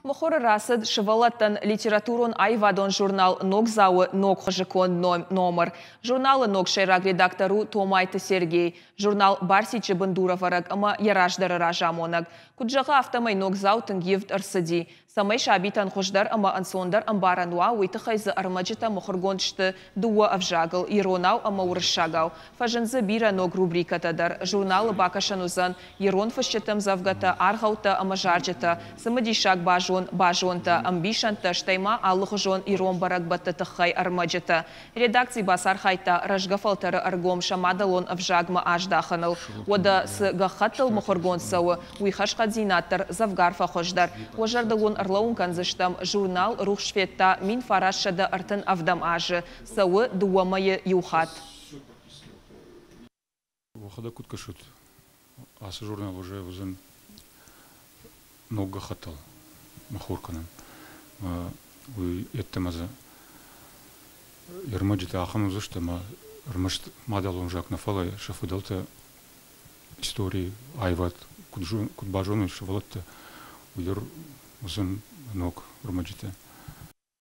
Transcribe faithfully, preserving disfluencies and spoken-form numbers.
Мыхуыры рацыд сывӕллӕттӕн литературон-аивадон журнал «Ногдзау-ы ног хуызы конд номыр. Журналы ног сӕйраг редактор у Томайты Сергей, журнал «Барсиччы» бындурӕвӕрӕг ӕмӕ йӕ раздӕры разамонӕг. Куыд зӕгъы, афтӕмӕй «Ногдзау» тынг ивд ӕрцыди. Цӕмӕй сабитӕн хуыздӕр ӕмӕ ӕнцондӕр ӕмбарӕн уа, уый тыххӕй дзы ӕрмӕджытӕ мыхуыргонд сты дыууӕ ӕвзагыл – иронау ӕмӕ уырыссагау. Фӕзынд дзы бирӕ ног рубрикӕтӕ дӕр. Журналы бакӕсӕн уыдзӕн ирон фысджыты ӕмдзӕвгӕтӕ, аргъӕуттӕ ӕмӕ зарджытӕ, цымыдисаг базон базонтӕ, ӕмбисӕндтӕ, стӕй ма алыхуызон ирон бӕрӕгбӕтты тыххӕй ӕрмӕджытӕ. Редакци бацархайдта рӕзгӕ фӕлтӕры ӕргом сӕ мадӕлон ӕвзагмӕ аздахыныл. Уӕдӕ цы гӕххӕттыл мыхуыргонд цӕуы, уый хӕрзхъӕддзинад дӕр дзӕвгар фӕхуыздӕр. Уӕ зӕрдыл уын ӕрлӕууын кӕндзыстӕм, журнал рухс федта мин фарастсӕдӕ ӕртын ӕвдӕм азы, цӕуы дыууӕ мӕйы иу хатт. Уӕхӕдӕг куыд кӕсут, ацы журнал уже уыдзӕн ног гӕххӕттыл мыхуыр кӕнын. Уый йеддӕмӕ дзы ӕрмӕджытӕ ахӕм уыдзысты, ӕмӕ ӕрмӕст мадӕлон ӕвзаг нӕ, фӕлӕ сӕ фыдӕлтӕ истори, аивад куыд, куыд базоной сывӕллӕттӕ, уый дӕр уыдзӕн ног ӕрмӕджытӕ.